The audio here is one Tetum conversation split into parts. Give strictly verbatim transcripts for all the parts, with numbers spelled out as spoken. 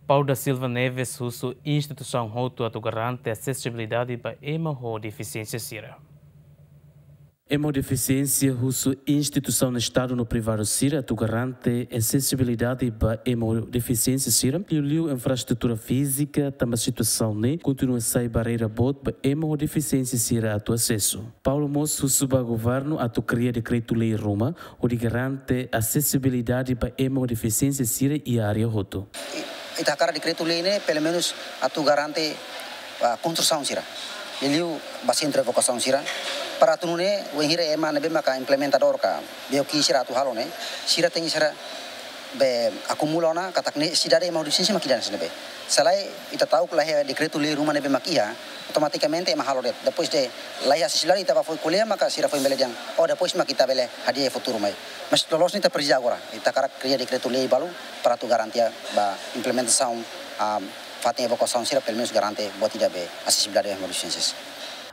Paulo da Silva Neves husu instituisaun hotu atu garante asesibilidade ba ema ho defisiénsia sira. Ema ho defisiénsia husu instituisaun Estadu no privadu sira atu garante asesibilidade ba ema ho defisiénsia sira, liuliu infraestrutura fízika, tanba situasaun ne'e kontinua sai barreira boot ba ema ho defisiénsia sira atu asesu. Paulo mós husu ba governu atu kria dekretu-lei ruma hodi garante asesibilidade ba ema ho defisiénsia sira iha área hotu. Ita hakarak dekretu-lei ne'e pelumenus atu garante, ah, konstrusaun sira, liuliu ba sentru evakuasaun sira, para atu nune'e wainhira ema ne'ebé maka implementadór ka B O Q sira atu halo ne'e, sira tenke sira be akumula ona katak ne'e sidade ema ho defisiénsia mak ida-ne'e. Se lae ita ta'uk la iha dekretu-lei ruma ne'ebé mak iha, automatikamente ema halo de'it. Depois de la iha asesibilidade, ita bá foin ko'alia maka sira foin bele dehan, oh, depois mak ita bele hadi'a iha futuru mai. Mas loloos ne'e ita presiza agora. Ita hakarak kria dekretu-lei balu para atu garantia ba implementasaun, ah, fatin evakuasaun sira pelumenus garante buat ida be asesibilidade ba ema ho defisiénsia.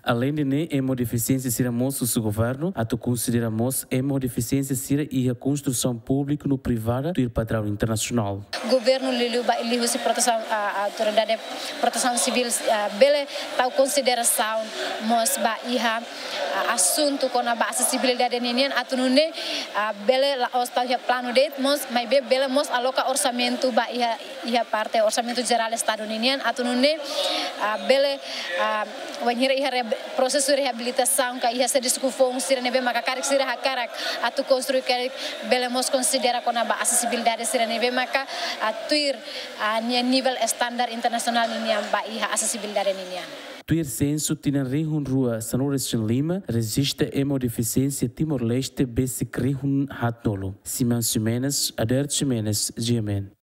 Aleinde ne'e, ema ho defisiénsia sira mós husu governu atu konsidera mós ema ho defisiénsia sira iha konstrusaun públiku no privada tuir padraun internasionál. Governu liuliu ba liuhusi protesaun, ah, autoridade protesaun sivíl, ah, bele tau konsiderasaun mós ba iha, ah, asuntu kona-ba asesibilidade ninian atu nune'e, ah, bele la'ós tau iha planu de'it mós, maibé bele mós aloka orsamentu ba iha, iha parte orsamentu jerál Estadu ninian atu nune'e, ah, bele, ah, wainhira iha reab-, prosesu reabilitasaun ka iha servisu foun sira ne'ebé maka karik sira hakarak atu konstrui karik bele mós konsidera kona-ba asesibilidade sira ne'ebé maka, ah, tuir, ah, nia nivel standar internasionál ninian ba iha asesibilidade ninian. Tuir sensu tinan rihun rua sanulu-resin-lima, rejista ema ho defisiénsia Timor-Leste besik rihun haatnulu. Simão Ximenes, Adérito Ximenes, G M N.